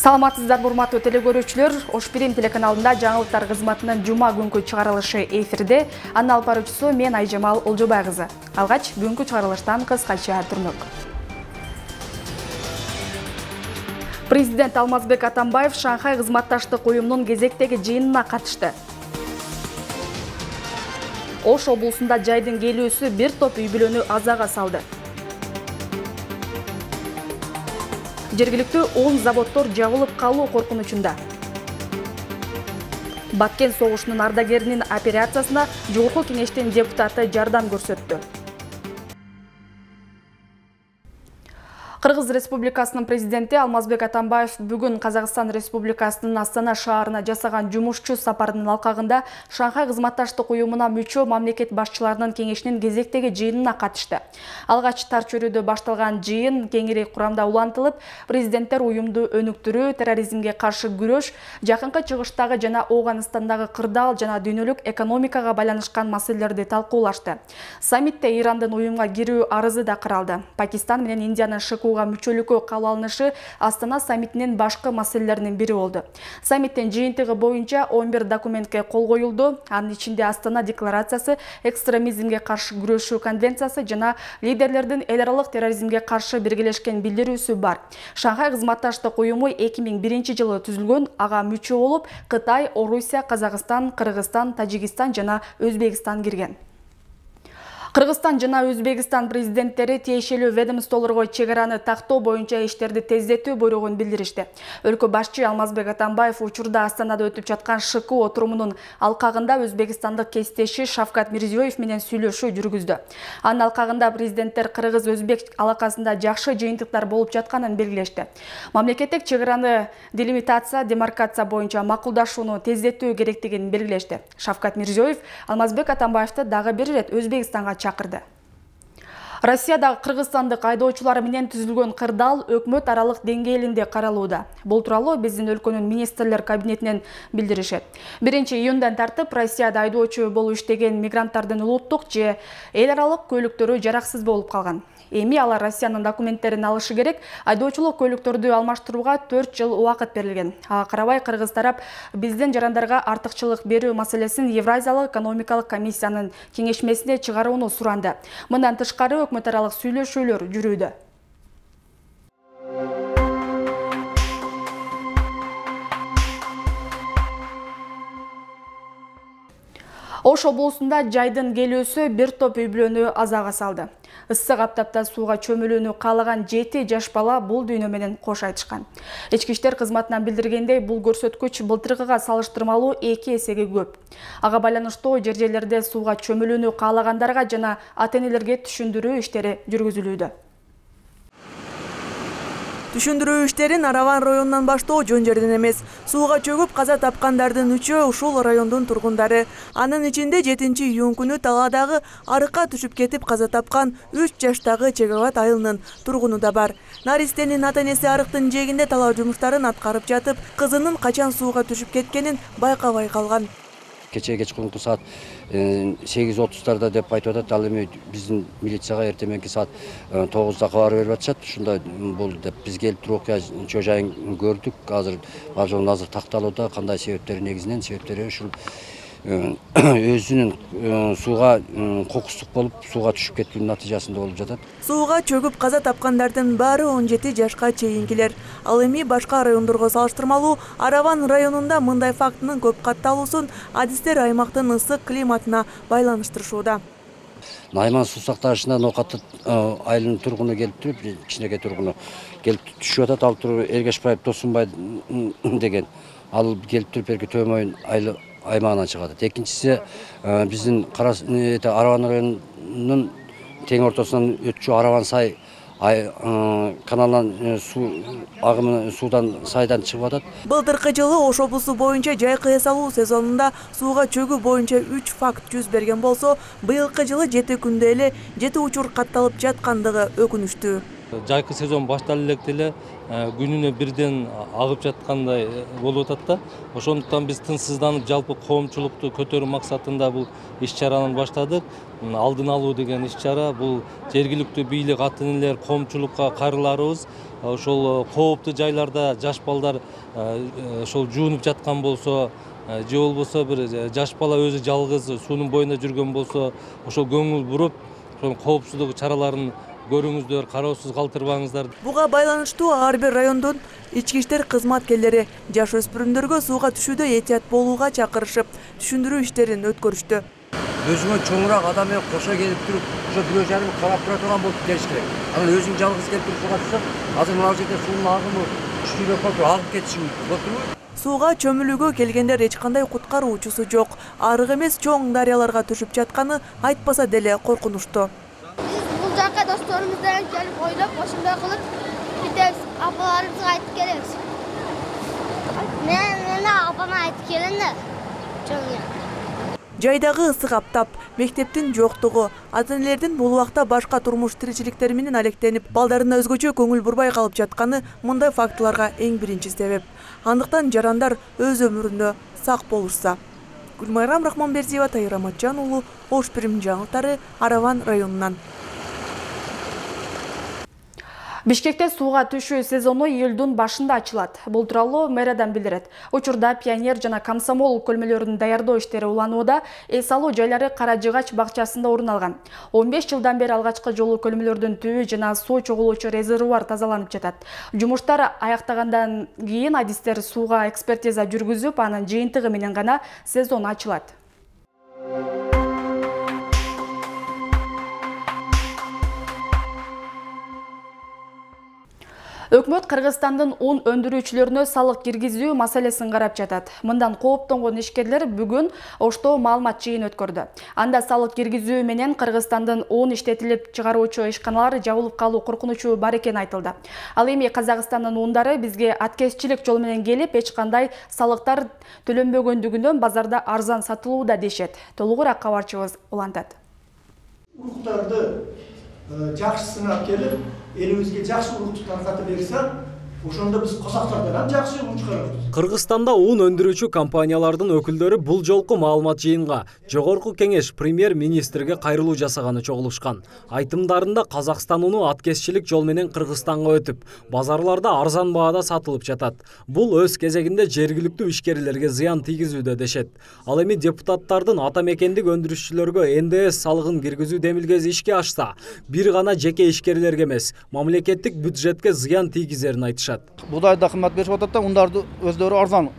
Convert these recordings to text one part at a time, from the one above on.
Саламатсыздар, урматтуу телекөрүүчүлөр. Ош-Бирим телеканалында жаңылыктар кызматынын жума күнкү чыгарылышы эфирде. Анын алып баруучусу мен Айжамал Олжобай кызы. Алгач бүгүнкү чыгарылыштан кыскача түрмөк. Президент Алмазбек Атамбаев Шанхай кызматташтык уюмунун кезектеги жыйынына катышты. Ош облусунда жайдын келүүсү бир топ үй бүлөнү азага салды. Жергиликтүү 10 заводдор жабылып калуу коркунучунда. Баткен согушунун ардагеринин операциясына Жогорку кеңештин депутаты жардам көрсөттү. Кыргыз Республикасынын президенти Алмазбек Атамбаев бүгүн Казакстан Республикасынын Астана шаарына жасаган жумушчу сапарынын алкагында Шанхай кызматташтык уюмуна мүчө мамлекет башчыларынын кеңешинин кезектеги жыйынына катышты. Алгач тар чөйрөдө башталган жыйын кеңири курамда улантылып, президенттер уюмду өнүктүрүү, терроризмге каршы күрөш, жакынкы чыгыштагы жана Ооганстандагы кырдаал жана дүйнөлүк экономикага байланышкан маселелерди талкуулашты. Саммитте Ирандын уюмга кирүү арызы да каралды. Пакистан менен Индиянын мүчөлүккө кабыл алынышы Астана саммитинин башкы маселелеринин бири болду. Саммиттин жыйынтыгы боюнча 11 документке кол коюлду. Анын ичинде Астана декларациясы, экстремизмге каршы күрөшүү конвенциясы жана лидерлердин эл аралык терроризмге каршы биргелешкен билдирүүсү бар. Шанхай кызматташтык уюму 2001 жылы түзүлгөн, ага мүчө болуп Кытай, Орусия, Казакстан, Кыргызстан, Тажикстан жана Өзбекстан кирген. Кыргызстан жана Өзбекстан президенттери тиешелүү ведомстволорго чек араны тактоо боюнча иштерди тездетүү буйругун билдиришти. Өлкө башчы Алмазбек Атамбаев учурда Астанада өтүп жаткан ШК отурумунун алкагында өзбекстандык кесиптеши Шавкат Мирзиёев менен сүйлөшүү жүргүздү. Анын алкагында президенттер кыргыз-өзбек алакасында жакшы жыйынтыктар болуп жатканын белгилешти. Мамлекеттик чек араны делимитация, демаркация боюнча макулдашууну тездетүү керектигин белгилешти. Шавкат Мирзиёев Алмазбек Атамбаевди дагы бир ирет Өзбекстанга чакырды. Россиядагы кыргызстандык айдоочулар менен түзүлгөн кырдаал өкмөт аралык деңгээлинде каралууда. Бул тууралуу биздин өлкөнүн министрлер кабинетинен билдиришет. 1-июндан тартып Россияда айдоочу болуп иштеген мигранттардын улуттук же эл аралык көйлөктөрү жараксыз болуп калган. Эми алар Россиянын документтерин алышы керек. Айдоочулук көйлөктөрдү алмаштырууга 4 жыл убакыт берилген. Ага карабай кыргыз тарап биздин жарандарга артыкчылык берүү маселесин Евразиялык экономикалык комиссиянын кеңешмесине чыгарууну суранды. Мындан тышкары өкмөт аралык сүйлөшүүлөр жүрүүдө. Ош облусунда жайдын келүүсү бир топ үй бүлөнү азага салды. Ысык аптапта сууга чөмүлүүнү каалаган 7 жаш бала бул дүйнө менен кош айтышкан. Ички иштер кызматынан билдиргендей, бул көрсөткүч былтыркыга салыштырмалуу 2 эсеге көп. Ага байланыштуу жер-жерлерде сууга чөмүлүүнү каалагандарга жана ата-энелерге түшүндүрүү иштери жүргүзүлүүдө. Түшүндүрүү иштерин Араван районунан баштоо жөн жерден эмес. Сууга чөгүп каза тапкандардын 3-өө ушул райондун тургундары. Анын ичинде 7-июнь күнү Талаадагы арыкка түшүп кетип каза тапкан 3 жаштагы Чегават айылынын тургуну да бар. Наристенин ата-энеси арыктын жээгинде талаа жумуштарын аткарып жатып, кызынын качан сууга түшүп кеткенин байкабай калган. Кечээ кечкурунку саат 8:30 деп айтып атат. Ал эми биздин милицияга эртеменки саат 9-да кабар берип атышат. Ушунда бул деп биз келип туруп окуя жайын көрдүк. Азыр бажон азыр такталууда. Кандай себептери негизинен себептери ушул өзүнүн сууга кокустук болуп, сууга түшүп кеткенин натыйжасында болуп жатат. Сууга чөгүп каза тапкандардын баары 17 жашка чейинкилер. Ал эми башка райондорго салыштырмалуу Араван районунда мындай фактынын көп катталуусун адистер аймактын ысык климатына байланыштырышууда. Найман суу сактагычына Ноокат айылынын тургуну келип туруп, кичинекей тургуну келип түшүп атат. Ал туруп Эргешбаев Досунбай деген. Ал келип туруп берки Төмөйүн айыл аймагынан чыгат. Экинчиси биздин Араван районунун тең ортосунан өтчү Араван сай каналынан суу агымы суудан сайдан чыгып атат. Былтыркы жылы Ош облусу боюнча жай кыя салуу сезонунда сууга чөгүү боюнча 3 факт жүз берген болсо, быйылкы жылы 7 күндө эле 7 учур катталып жаткандыгы өкүнүчтүү. Жайкы сезон башталып электе эле күнүнө бирден агып жаткандай болуп атат да. Ошондуктан биз тынчсызданып жалпы коомчулукту көтөрүү максатында бул иш-чараны баштадык. Алдын алуу деген иш-чара бул жергиликтүү бийлик ата энелер коомчулукка кайрыларыбыз. Ошол кооптуу жайларда жаш балдар ошол жуунуп жаткан болсо, же болбосо бир жаш бала өзү жалгыз суунун боюнда жүргөн болсо, ошол көңүл буруп, ошол коопсуздук чараларын көрүңүздөр, кароосуз калтырбаңыздар. Буга байланыштуу ар бир райондун ички иштер кызматкерлери жаш өспүрүмдөргө сууга түшүүдө этият болууга чакырышып, түшүндүрүү иштерин өткөрүштү. Өзүңө чоңураак адам менен кошо келип туруп, ошо бирөө жарым карап тура турган болуп келиш керек. Анан өзүң жалгыз келип туруп сууга түшсөң, азыр мына жерде суунун агымы күчтүүрөөк болуп агып кетиши мүмкүн. Болуптурбу? Сууга чөмүлүүгө келгендер эч кандай куткаруучусу жок. Арык эмес чоң дарыяларга түшүп жатканы айтпаса деле коркунучтуу. Бул жакка досторубуз менен келип ойлоп, ошондой кылып кетебиз. Апаларыбызга айтып келебиз. Мен апама айтып келем да. Жайдагы ысык аптап, мектептин жоктугу, ата-энелердин бул убакта башка турмуш тиричиликтери менен алектенип, балдарына өзгөчө көңүл бурбай калып жатканы мындай фактыларга эң биринчи себеп. Андыктан жарандар өз өмүрүндө сак болушса. Гүлмайрам Рахманбердиева, Тайыр Аматжан уулу, Ош Пирим жаңылыктары, Араван районунан. Бишкекте сууга түшүү сезону июлдун башында ачылат. Бул тууралуу мэриядан билдирет. Учурда Пионер жана Комсомол көлмөлөрүн даярдоо иштери уланууда, эс алуу жайлары Кара Жыгач бакчасында орун алган. 15 жылдан бери алгачкы жолу көлмөлөрдүн түбү жана суу чогулуучу резервуар тазаланып жатат. Жумуштар аяктагандан кийин адистер сууга экспертиза жүргүзүп, анын жыйынтыгы менен гана сезон ачылат. Өкмөт Кыргызстандын ун өндүрүүчүлөрүнө салык киргизүү маселесин карап жатат. Мындан кооптонгон ишкерлер бүгүн Ошто маалымат жыйын өткөрдү. Анда салык киргизүү менен Кыргызстандын ун иштетилип чыгаруучу ишканалар жабылып калуу коркунучу бар экени айтылды. Ал эми Казакстандын ундары бизге аткезчилик жол менен келип, эч кандай салыктар төлөнбөгөндүгүнөн базарда арзан сатылууда дешет. Толугураак кабарчыбыз улантат. Уруктарды жакшы сынап келип, элибизге жакшы урукту таркатып берсе, ошондо биз казактардан ham жакшы урук чыгарабыз. Кыргызстанда ун өндүрүүчү компаниялардын өкүлдөрү бул жолку маалымат жыйынга Жогорку Кеңеш премьер-министрге кайрылуу жасаганы чогулушкан. Айтымдарында Казакстан уну аткезчилик жол менен Кыргызстанга өтүп, базарларда арзан баада сатылып жатат. Бул өз кезегинде жергиликтүү ишкерлерге зыян тийгизүүдө дешет. Ал эми депутаттардын ата мекендик өндүрүшчүлөргө НДС салыгын киргизүү демилгеси ишке ашса, бир гана жеке ишкерлерге эмес, мамлекеттик бюджетке зыян тийгизерин айтышат. Будайда кымбат беришип атат да, ундарды өздөрү арзан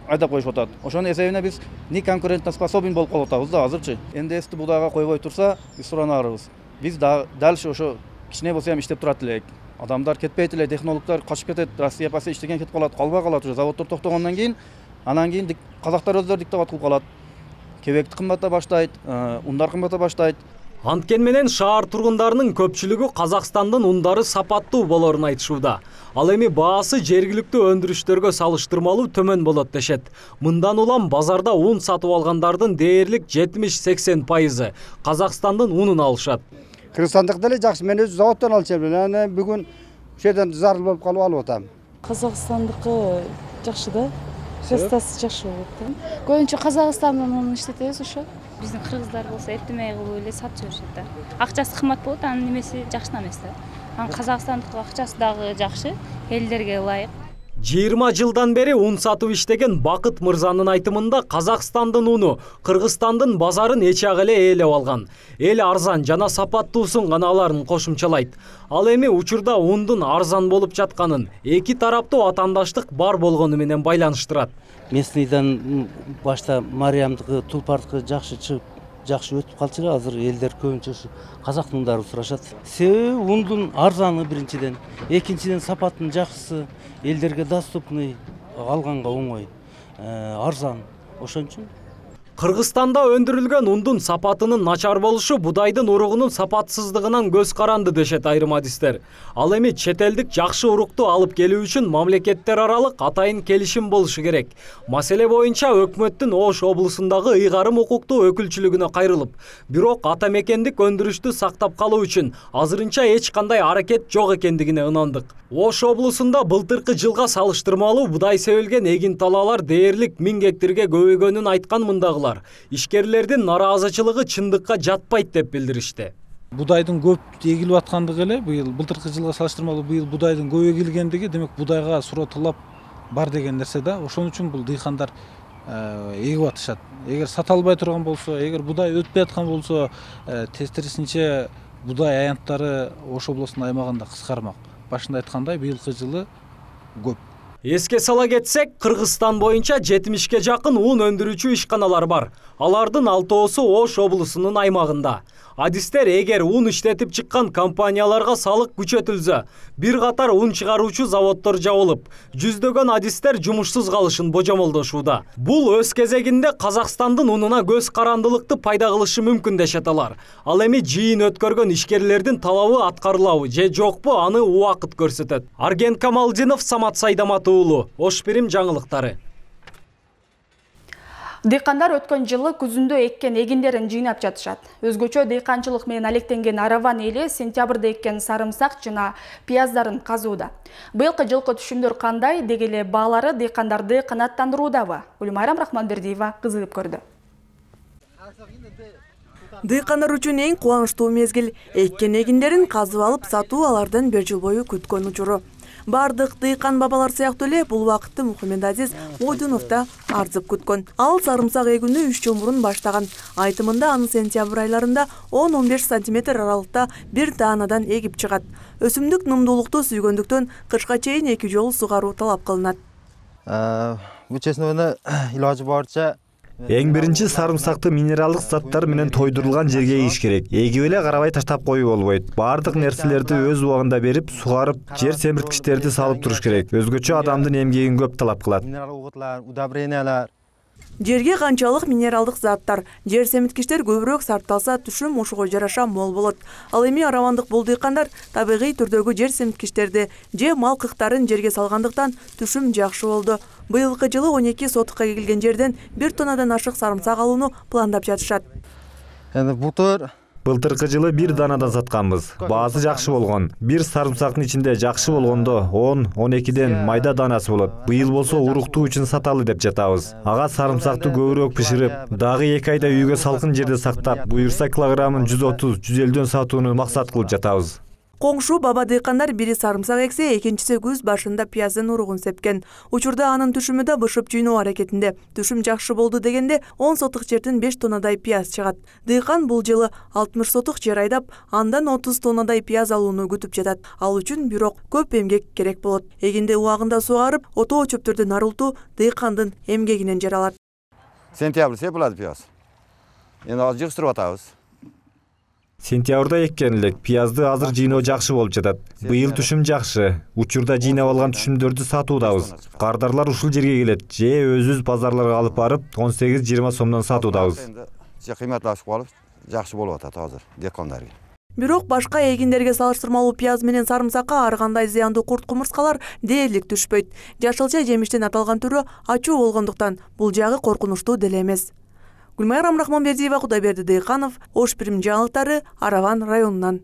айдап коюшуп атат. Ошонун эсебине биз не конкурентно способен болуп калып атабыз да азырчы. НДСти будайга койбой турса, биз суранарбыз. Биз дальше ошо кичине болсо ham иштеп турат элек. Адамдар кетпейт эле, технологдор качып кетет, Россия пасы иштеген кетип калат, калбай калат уже заводдор токтогондон кийин, анан кийин казактар өздөрү диктоват кылып калат. Кебекти кымбата баштайт, ундар кымбата баштайт. Анткен менен шаар тургундарынын көпчүлүгү Казакстандын ундары сапаттуу болорун айтышууда. Ал эми баасы жергиликтүү өндүрүштөргө салыштырмалуу төмөн болот дешет. Мындан улам базарда ун сатып алгандардын дээрлик 70-80% Казакстандын унун алышат. Кыргызстандык деле жакшы, мен өзү заводдон алчу элем. Анан бүгүн ушул жерден зарыл болуп калып алып атам. Казакстандыкы жакшы да. Кыргызстасы жакшы болот. Көбүнчө Казакстандын унун иштетебиз ошо. Биздин кыргыздар болсо эптемей кылып эле сатып жүрүшөт да. Акчасы кымбат болот, анын немеси жакшы эмес да. Анан Казакстандык акчасы дагы жакшы, элдерге ылайык. 20 жылдан бери ун сатып иштеген Бакыт мырзанын айтымында Казакстандын уну Кыргызстандын базарын эч ак эле ээлеп алган. Эл арзан жана сапаттуусун гана аларын кошумчалайт. Ал эми учурда ундун арзан болуп жатканын эки тараптуу атаандаштык бар болгону менен байланыштырат. Местныйдан башта Мариямдыкы, Тулпардыкы жакшы чыгып, жакшы өтүп калчу эле, азыр элдер көбүнчөсү казактын ундарын сурашат. Себеби ундун арзаны биринчиден, экинчиден сапаттын жакшысы, элдерге доступный, алганга оңой, арзан. Ошон үчүн Кыргызстанда өндүрүлгөн ундун сапатынын начар болушу будайдын уругунун сапатсыздыгынан көз каранды дешет айрым адистер. Ал эми чет элдик жакшы урукту алып келүү үчүн мамлекеттер аралык атайын келишим болушу керек. Маселе боюнча өкмөттүн Ош облусундагы ыйгарым укуктуу өкүлчүлүгүнө кайрылып, бирок ата мекендик өндүрүштү сактап калуу үчүн азырынча эч кандай аракет жок экендигине ынандык. Ош облусунда былтыркы жылга салыштырмалуу будай себилген эгин талаалар дээрлик 1000 гектарга көбөйгөнүн айткан мындагылар. Ишкерлердин нараазычылыгы чындыкка жатпайт деп билдиришти. Будайдын көп эгилип аткандыгы эле былтыркы жылга салыштырмалуу быйыл будайдын көп эгилгендиги демек будайга суроо талап бар деген нерсе да. Ошон үчүн бул дыйкандар эгип атышат. Эгер сата албай турган болсо, эгер будай өтпөй аткан болсо, тескерисинче будай аянттары Ош облусунун аймагында кыскармак. Башында айткандай быйылкы жылы көп. Эске сала кетсек, Кыргызстан боюнча 70ке жакын ун өндүрүүчү ишканалар бар. Алардын 6оосу Ош облусунун аймагында. Адистер эгер ун иштетип чыккан компанияларга салык күчөтүлсө, бир катар ун чыгаруучу заводдор жабылып, жүздөгөн адистер жумушсуз калышын божомолдошууда. Бул өз кезегинде Казакстандын унуна көз карандылыкты пайда кылышы мүмкүн дешет алар. Ал эми жыйын өткөргөн ишкерлердин талабы аткарылабы же жокпу, аны убакыт көрсөтөт. Арген Камалдинов, Самат Сайдамат уулу, Ош Бирим жаңылыктары. Дыйкандар өткөн жылы күзүндө эккен эгиндерин жыйнап жатышат. Өзгөчө дыйканчылык менен алектенген араван эли сентябрда эккен сарымсак жана пияздарын казууда. Быйылкы жылкы түшүмдөр кандай, деги эле баалары дыйкандарды канааттандыруудабы? Гүлмайрам Рахманбердиева кызыгып көрдү. Дыйкандар үчүн эң кубанычтуу мезгил эккен эгиндерин казып алып сатуу алардан 1 жыл бою күткөн учуру. Бардык дыйкан бабалар сыяктуу эле бул убакытты Мухаммедазиз Мойдунов да арзып күткөн. Ал сарымсак эгүүнү 3 жыл мурун баштаган. Айтымында аны сентябрь айларында 10-15 сантиметр аралыкта бир даанадан эгип чыгат. Өсүмдүк нымдуулукту сүйгөндүктөн кышка чейин 2 жолу сугаруу талап кылынат. Бул честно илажы барча Эң биринчи сарымсакты минералдык заттар менен тойдурулган жерге эгиш керек. Эгип эле карабай таштап коюу болбойт. Бардык нерселерди өз убагында берип, сугарып, жер семирткичтерди салып туруш керек. Өзгөчө адамдын эмгегин көп талап кылат. Удобрениялар. Жерге канчалык минералдык заттар, жер семирткичтер көбүрөөк сарпталса, түшүм ошого жараша мол болот. Ал эми аравандык бул дыйкандар табигый түрдөгү жер семирткичтерди же мал кыктарын жерге салгандыктан түшүм жакшы болду. Быйылкы жылы 12 сотукка эгилген жерден 1 тоннадан ашык сарымсак алууну пландап жатышат. Эми Былтыркы жылы 1 данадан сатканбыз. Баасы жакшы болгон. Бир сарымсактын ичинде жакшы болгондо 10-12ден майда данасы болот. Быйыл болсо уруктуу үчүн саталы деп жатабыз. Ага сарымсакты көбүрөөк бышырып, дагы 2 айда үйгө салкын жерде сактап, буюрса килограммын 130-150дөн сатууну максат кылып жатабыз. Коңшу баба дыйкандар бири сарымсак эксе, экинчиси күз башында пияздын уругун сепкен. Учурда анын түшүмү да бышып жыйноо аракетинде. Түшүм жакшы болду дегенде 10 сотук жерден 5 тоннадай пияз чыгат. Дыйкан бул жылы 60 сотук жер айдап, андан 30 тоннадай пияз алууну күтүп жатат. Ал үчүн бирок көп эмгек керек болот. Эгинди убагында сугарып, отоо чөптөрдүн арылтуу дыйкандын эмгегинен жаралат. Сентябрь сепилат пияз. Эми азыр жыгыштырып атабыз. Сентябрда эккен элек, пиязды азыр жыйноо жакшы болуп жатат. Быйыл түшүм жакшы. Учурда жыйнап алган түшүмдөрдү сатуудабыз. Кардарлар ушул жерге келет, же өзүбүз базарларга алып барып 18-20 сомдон сатуудабыз. Же кыйматлашып калып, жакшы болуп атат азыр декандарга. Бирок башка эгиндерге салыштырмалуу пияз менен сарымсакка ар кандай зыяндуу курт-кумурскалар дээрлик түшпөйт. Жашылча жемиштин аталган түрү ачуу болгондуктан бул жагы коркунучтуу деле эмес. Гүлмайрам Рахманбердиева, Кудайберди Дыйканов, Ош Бирим жаңылыктары, Араван районунан.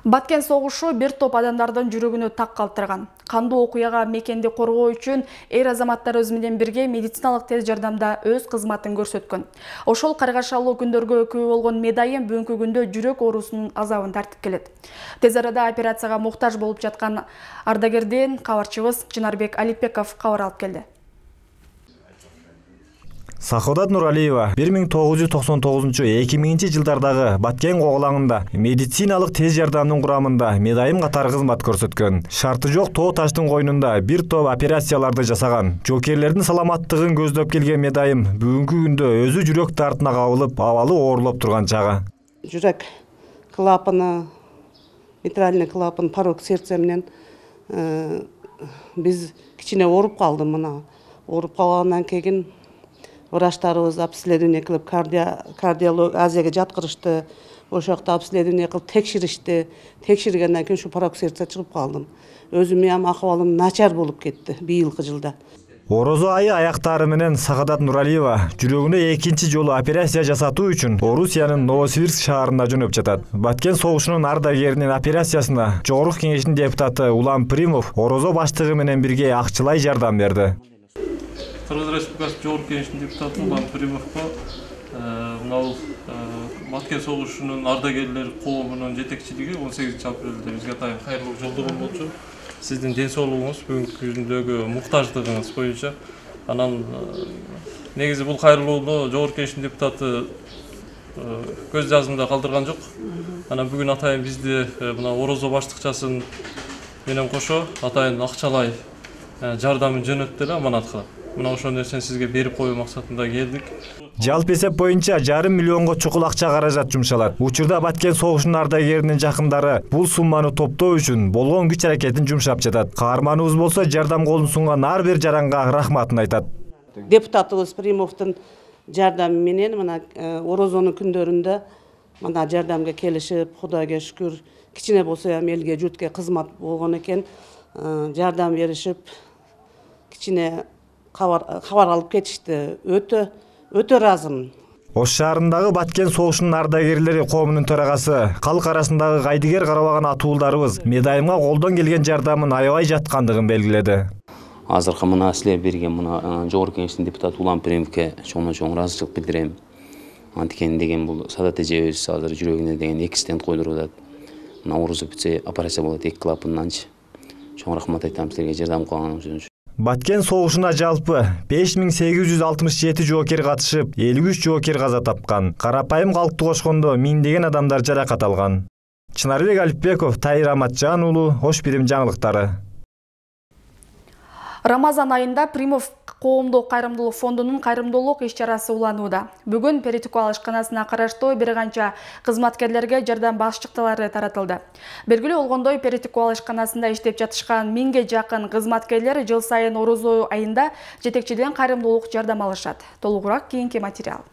Баткен согушу бир топ адамдардын жүрөгүнө так калтырган. Кандуу окуяга мекенди коргоо үчүн эр азаматтар өзү менен бирге медициналык тез жардамда өз кызматын көрсөткөн. Ошол каргашалуу күндөргө күбө болгон медайым бүгүнкү күндө жүрөк оорусунун азабын тартып келет. Тез арада операцияга муктаж болуп жаткан ардагерден кабарчыбыз Чынарбек Алипбеков кабар алып келди. Саходат Нуралиева 1999-2000 жылдардагы Баткен коголаңында медициналык тез жардамдын курамында медайым катары кызмат көрсөткөн. Шарты жок тоо таштын койнунда бир топ операцияларды жасаган. Жокерлердин саламаттыгын көздөп келген медайым бүгүнкү күндө өзү жүрөк дартына кабылып, абалы оорлоп турган чагы. Жүрөк клапаны, митральный клапан, порог сердце менен биз кичине ооруп калды мына. Ооруп калгандан кийин врачтарыбыз обследование кылып Азияга жаткырышты. Ошол жакта обследование кылып текширишти. Текширгенден кийин ушу порок сердце чыгып калдым. Өзүм ham акыбалым начар болуп кетти быйылкы жылда. Орозо айы аяктары менен Сагадат Нуралиева жүрөгүнө экинчи жолу операция жасатуу үчүн Орусиянын Новосибирск шаарына жөнөп жатат. Баткен согушунун ардагеринин операциясына Жогорку кеңештин депутаты Улан Примов Орозо баштыгы менен бирге акчалай жардам берди. Кыргыз Республикасы Жогорку кеңештин депутаты Улан Примовго мына Баткен согушунун ардагерлер коомунун жетекчилиги 18-апрелде бизге атайын кайрылуу жолдогон болчу. Сиздин ден соолугуңуз, бүгүнкү күндөгү муктаждыгыңыз боюнча анан негизи бул кайрылууну Жогорку кеңештин депутаты көз жазымда калтырган жок. Анан бүгүн атайын бизди мына Орозо баштыкчасын менен кошо атайын акчалай жардамын жөнөттү эле аманат кылып. Мына ошол нерсени сизге берип коюу максатында келдик. Жалпы эсеп боюнча 1,5 миллионго чукул акча каражат жумшалат. Учурда Баткен согушунун ардагеринин жакындары бул сумманы топтоо үчүн болгон күч аракетин жумшап жатат. Каарманыбыз болсо жардам колун сунган ар бир жаранга рахматын айтат. Депутатыбыз Примовдун жардамы менен мына Орозонун күндөрүндө мына жардамга келишип, Кудайга шүкүр, кичине болсо ham элге, журтка кызмат болгон экен, жардам беришип, кичине кабар алып кетишти. Өтө ыраазымын. Ош шаарындагы Баткен согушунун ардагерлери коомунун төрагасы, калк арасындагы кайдыгер карабаган атуулдарыбыз медайымга колдон келген жардамын аябай жаткандыгын белгиледи. Азыркы мына силер берген мына Жогорку кеңештин депутаты Улан Примовке чоң ыраазычылык билдирем. Антикен деген бул Садат эжебиз азыр жүрөгүнө деген 2 стенд койдуруп атат. Мына Орозо бүтсө операция болот 2 клапанданчы. Чоң рахмат айтам силерге жардам кылганыңыз үчүн. Баткен согушуна жалпы 5867 жоокер катышып, 53 жоокер каза тапкан. Карапайым калкты кошкондо миңдеген адамдар жаракат алган. Чынарбек Алипбеков, Тайыр Аматжан уулу, Ош Бирим жаңылыктары. Рамазан айында Примов коомдук кайрымдуулук фондунун кайрымдуулук иш-чарасы уланууда. Бүгүн Перетикул ишканасына караштуу бир канча кызматкерлерге жардам башчыктары таратылды. Белгилүү болгондой, Перетикул ишканасында иштеп жатышкан 1000ге жакын кызматкерлер жыл сайын Орозо айында жетекчиден кайрымдуулук жардам алышат. Толугураак кийинки материал.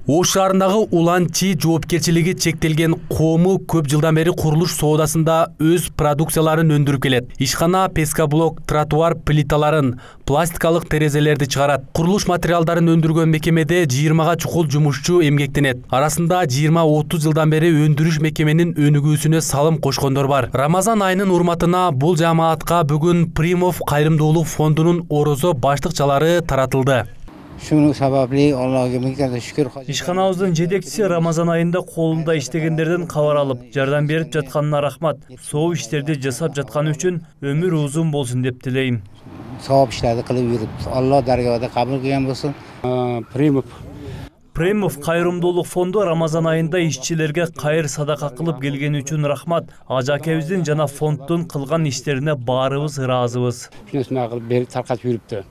Ош шаарындагы Уланчи жоопкерчилиги чектелген коому көп жылдан бери курулуш соодасында өз продукцияларын өндүрүп келет. Ишкана пескоблок, тротуар плиталарын, пластикалык терезелерди чыгарат. Курулуш материалдарын өндүргөн мекемеде 20га чукул жумушчу эмгектенет. Арасында 20-30 жылдан бери өндүрүш мекеменин өнүгүүсүнө салым кошкондор бар. Рамазан айынын урматына бул жамаатка бүгүн Примов кайрымдуулук фондунун Орозо баштыкчалары таратылды. Шуну сабапли Аллага миңден шүкүр. Ишканабыздын жетекчиси Рамазан айында колунда иштегендерден кабар алып, жардам берип жатканына рахмат. Соо иштерди жасап жатканы үчүн өмүр узун болсун деп тилейм. Савап иштерди кылып жүрүп, Алла даргада кабыл кылган болсун. Примов кайрымдуулук фонду Рамазан айында ишчилерге кайыр садака кылып келгени үчүн рахмат. Ажакебиздин жана фонддун кылган иштерине баарыбыз ыраазыбыз. Шунусуна кылып берип таркатып жүрүптү.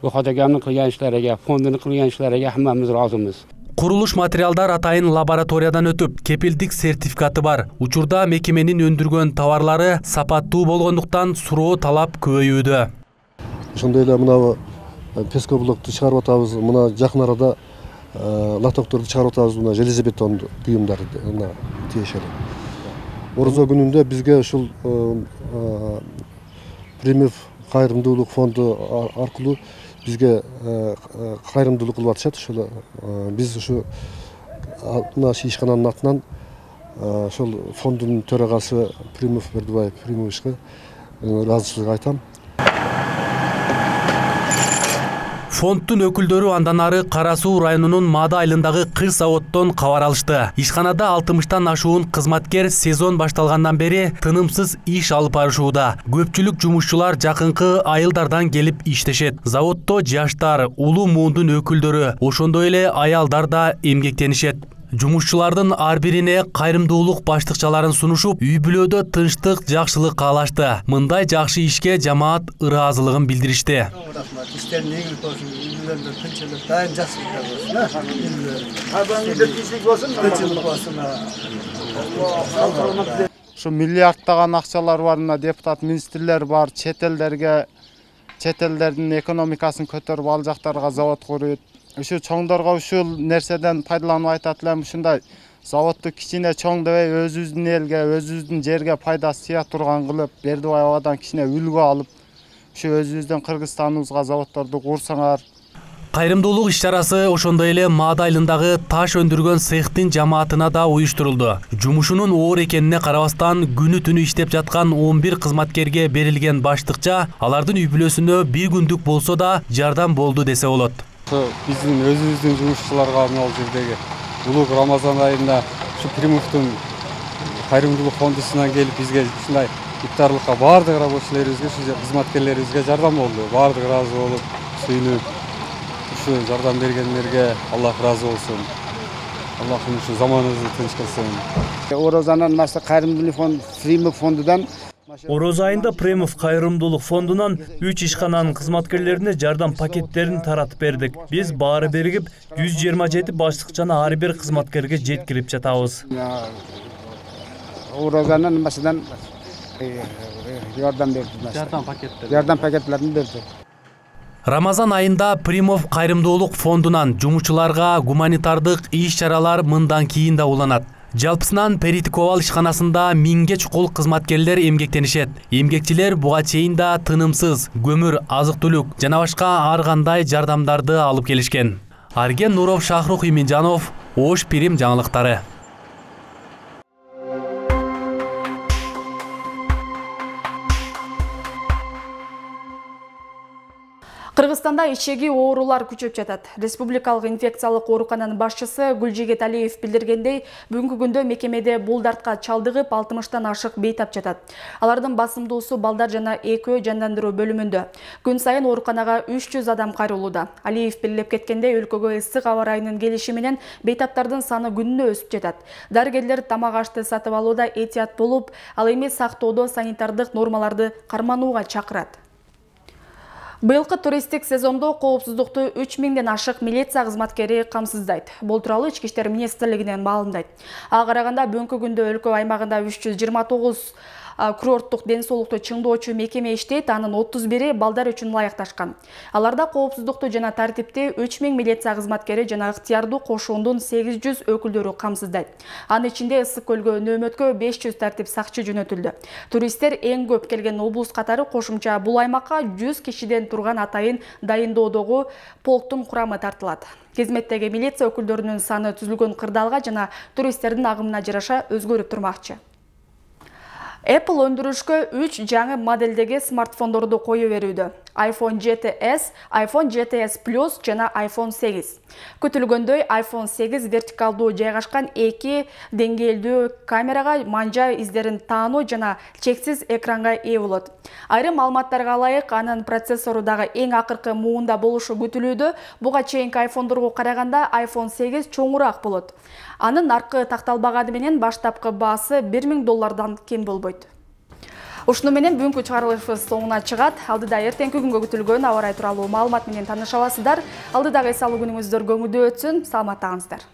Bu xodagamın qilgan ishlariga, fondini qilgan ishlariga hammamiz rozimiz. Курулуш материалдар атайын лабораториядан өтүп, кепилдик сертификаты бар. Учурда мекеменин өндүргөн товарлары сапаттуу болгондуктан суроо талап көбөйүүдө. Ошондой эле мына пескоблокту чыгарып атабыз, мына жакын арада лотокторду чыгарып атабыз, мына железобетон буюмдарды мына тиешели. Орозо күнүндө бизге ушул Примов кайрымдуулук фонду аркылуу бизге кайрымдуулук кылып атышат. Ошол биз ушу мына ишкананын атынан ошол фондунун төрагасы Примов Бердибаев Примовичке ыраазычылык айтам. Фондтун өкүлдөрү андан ары Кара Суу районунун Мада айылындагы кыр заводдон кабар алышты. Ишканада 60тан ашуун кызматкер сезон башталгандан бери тынымсыз иш алып барышууда. Көпчүлүк жумушчулар жакынкы айылдардан келип иштешет. Заводдо жаштар, улуу муундун өкүлдөрү, ошондой эле аялдар да эмгектенишет. Жумушчулардын ар бирине кайрымдуулук баштыкчаларын сунушуп, үй бүлөдө тынчтык, жакшылык каалашты. Мындай жакшы ишке жамаат ыраазылыгын билдиришти. Ушу миллиардтаган акчалар бар, мына депутат министрлер бар, чет элдерге чет элдердин экономикасын көтөрүп ал жактарга завод куруп, ушу чоңдорго ушул нерседен пайдаланып айтат элем. Ушундай заводду кичине чоң дебей, өзүбүздүн элге, өзүбүздүн жерге пайдасы тия турган кылып, Бердибай абадан кичине үлгү алып, ушу өзүбүздүн Кыргызстаныбызга заводдорду курсаңар. Кайрымдуулук иш-чарасы ошондой эле Маада айылындагы таш өндүргөн цехтин жамаатына да уюштурулду. Жумушунун оор экенине карабастан күнү түнү иштеп жаткан 11 кызматкерге берилген баштыкча алардын үй бүлөсүнө бир күндүк болсо да жардам болду десе болот. Биздин өзүбүздүн жумушчуларга мына жердеги улуг Рамазан айында ушу Примовдун кайрымдуулук фондусунан келип бизге ушундай иптарлыкка баардык рабочийлерибизге, кызматкерлерибизге жардам болду. Баардык ыраазы болуп, сүйүнүп, ушу жардам бергендерге Аллах ыраазы болсун. Аллахым ушу заманыбызды тынч кылсын. Орозанын маса кайрымдуулук фонд Примов фондунан Ороза айында Примов кайрымдуулук фондунан 3 ишкананын кызматкерлерине жардам пакеттерин таратып бердик. Биз баары биригип 127 баштыкчаны ар бир кызматкерге жеткирип жатабыз. Орозанын масадан жардам берди. Жардам пакеттерин берди. Рамазан айында Примов кайрымдуулук фондунан жумушчуларга гуманитардык иш-чаралар мындан кийин да уланат. Жалпысынан Перитиковал ишканасында 1000ге чукул кызматкерлер эмгектенишет. Эмгекчилер буга чейин да тынымсыз көмүр, азык-түлүк жана башка ар кандай жардамдарды алып келишкен. Арген Нуров, Шахрух Иминжанов, Ош Пирим жаңылыктары. Кыргызстанда ичеги оорулар күчөп жатат. Республикалык инфекциялык оорукананын башчысы Гүлжигет Алиев билдиргендей, бүгүнкү күндө мекемеде бул дартка чалдыгып 60тан ашык бейтап жатат. Алардын басымдуусу балдар жана экөө жандандыруу бөлүмүндө. Күн сайын ооруканага 300 адам кайрылууда. Алиев белгилеп кеткендей, өлкөгө ысык аба ырайынын келиши менен бейтаптардын саны күнүнө өсүп жатат. Дарыгерлер тамак ашты сатып алууда этият болуп, ал эми сактоодо санитардык нормаларды карманууга чакырат. Быйылкы туристтик сезондо коопсуздукту 3000ден ашык милиция кызматкери камсыздайт. Бул тууралуу Ички иштер министрлигинен маалымдайт. Ага караганда бүгүнкү күндө өлкө аймагында 329 курорттук ден соолукту чыңдоочу мекеме иштейт, анын 31 балдар үчүн ылайыкташкан. Аларда коопсуздукту жана тартипти 3000 милиция кызматкери жана ыктыярдуу кошуундун 800 өкүлдөрү камсыздайт. Анын ичинде Ысык көлгө нөөмөткө 500 тартип сакчы жөнөтүлдү. Туристтер эң көп келген облус катары кошумча бул аймакка 100 кишиден турган атайын дайындоодогу полктун курамы тартылат. Кызметтеги милиция өкүлдөрүнүн саны түзүлгөн кырдаалга жана туристтердин агымына жараша өзгөрүп турмакчы. Apple өндүрүшкө 3 жаңы моделдеги смартфондорду кою берүүдө. iPhone XS, iPhone XS Plus жана iPhone 8. Күтүлгөндөй iPhone 8 вертикалдуу жайгашкан 2 деңгээлдүү камерага манжа издерин таануу жана чексиз экранга ээ болот. Айрым маалыматтарга ылайык, анын процессору дагы эң акыркы муунда болушу күтүлүүдө. Буга чейинки айфондорго караганда iPhone 8 чоңураак болот. Анын аркы такталбаганы менен баштапкы баасы $1000 кем болбойт. Ушуну менен бүгүнкү чыгарылышыбыз соңуна чыгат. Алдыда эртеңки күнгө күтүлгөн аба ырайы тууралуу маалымат менен тааныша аласыздар. Алдыдагы эс алуу күнүңүздөр көңүлдүү өтсүн. Саламатта калыңыздар.